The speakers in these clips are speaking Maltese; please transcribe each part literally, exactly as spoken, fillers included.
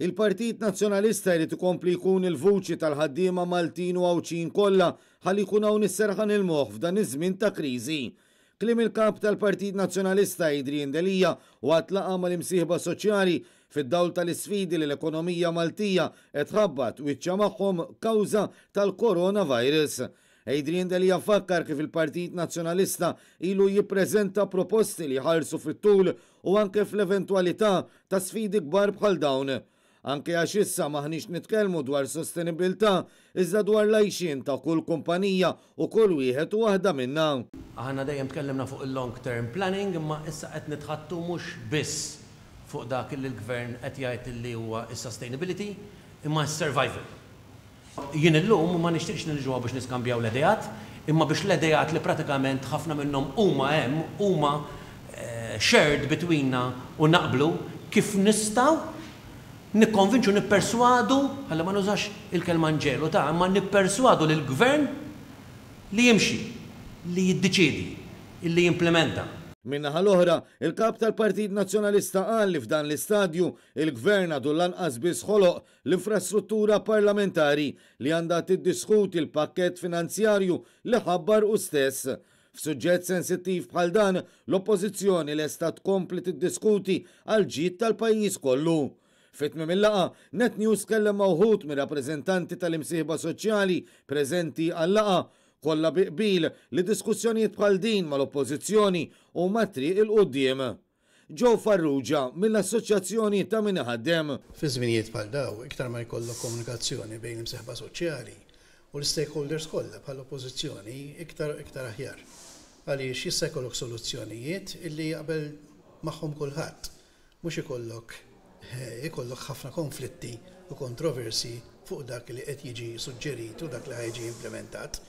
Il-Partit Nazzjonalista jrid ikompli jkun il-vuċi tal-ħaddiema Maltin u Għawdxin kollha ħalli jkun hawn is-serħan il-moħħ f'dan iż-żmien ta' kriżi. Kliem il-kap tal-Partit Nazzjonalista Adrian Delia waqt laqgħa mal-imsieħba soċjali fid-dawl tal-isfidi li l-ekonomija Maltija qed tħabbat wiċċha magħhom kawża tal-coronavirus. Adrian Delia fakkar kif il-Partit Nazzjonalista ilu jippreżenta proposti li jħarsu fit-tul u anke fl-eventwalità ta' sfidi kbar bħal dawn. Anke għax issa maħniex nitkellmu dwar sostenibilità, iżda dwar l-għajxien ta' kull kumpanija u kull wieħed u waħda minna. Aħna dejjem tkellimna fuq il-long term planning, imma issa qed nitħattu mhux biss fuq dak li l-gvern qed jgħid li huwa s-sustainability, imma s-survival. Jien illum ma nixtieqx niġu biex niskambjaw l-ideat, imma biex l-ideat li pratikament ħafna minnhom huma hemm, huma shared betweenna u naqblu kif nistgħu nikkonvinċu, nipperswadu, ħalli ma nużax il-kelma nġelu ta' imma nipperswadu lill-gvern li jimxi, li jiddeċiedi, li jimplementa. Min-naħa l-oħra, il-kap tal-Partit Nazzjonalista qal li f'dan l-istadju il-gvern għadu lanqas biss ħoloq l-infrastruttura parlamentari li għandha tiddiskuti l-pakkett finanzjarju li ħabbar hu stess. F'suġġett sensittiv bħal dan, l-Oppożizzjoni lesta tkompli tiddiskuti għal ġid tal-pajjiż kollu. Fi tmiem il-laqgħa, Net News kellem ma' wħud mir-rappreżentanti tal-imsieħba soċjali preżenti għal-laqgħa, kollha bi qbil li diskussjonijiet bħal din mal-Oppożizzjoni huma triq 'il quddiem. Joe Farrugia mill-Assoċjazzjoni ta' Min Iħaddem. Fi żminijiet bħal daw, iktar ma jkollok komunikazzjoni bejn l-imsieħba soċjali u l-stakeholders kollha bħall-Oppożizzjoni, iktar iktar aħjar. Għaliex jista' jkollok soluzzjonijiet illi jaqbel magħhom kulħadd, mhux ikollok ikollok ħafna konflitti u kontroversi fuq dak li qed jiġi suġġerit u dak li ħa jiġi implementat.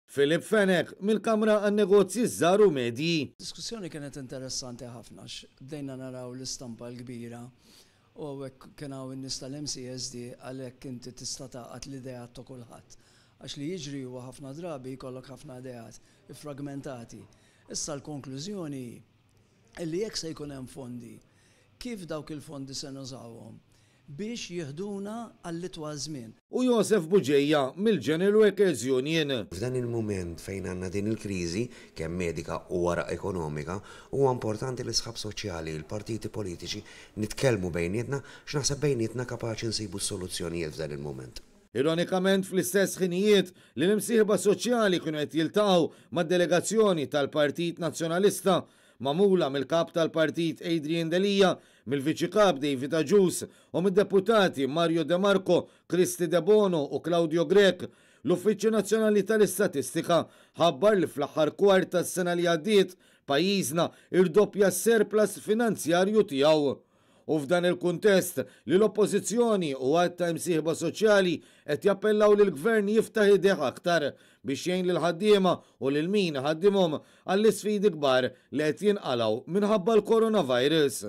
Philip Fenech mill-Kamra għan-Negozji Żgħar u Medji. Diskussjoni kienet interessanti ħafna, bdejna naraw l-istampa l-kbira u hawnhekk kien hawn in-nies tal-M C S D, għalhekk inti tista' tgħaqqad l-ideat ta' kulħadd. Għax li jiġri huwa ħafna drabi jkollok ħafna ideat iffragmentati. Issa l-konklużjoni illi jekk se jkun hemm fondi, kif dawk il-fondi se nużawhom biex jiħduna għall-itwal żmien. U Josef Bugeja mill-General Workers Union. F'dan il-moment fejn għandna din il-kriżi, kemm medika u wara ekonomika, huwa importanti li sħab soċjali, il-partiti politiċi nitkellmu bejnietna, x'naħseb bejnietna kapaċi nsibu soluzzjonijiet f'dan il-moment. Ironikament, fl-istess ħinijiet li l-imsieħba soċjali kienu qed jiltaqgħu mad-delegazzjoni tal-Partit Nazzjonalista magħmula mill-kap tal-partit Adrian Delia, mill-viċi kap David Agius u mid-deputati Mario De Marco, Kristy Debono u Claudio Grech, l-Uffiċċju Nazzjonali tal-Istatistika ħabbar li fl-aħħar kwart tas-sena li għaddiet pajjiżna irdoppja s-surplus finanzjarju tiegħu. U f'dan il-kuntest li l-Oppożizzjoni u għadd ta' imsieħba soċjali qed jappellaw lill-gvern jiftaħ idejh aktar biex jgħin lil ħaddiema u lil min iħaddimhom għall-isfidi kbar li qed jinqalgħu minħabba l-coronavirus.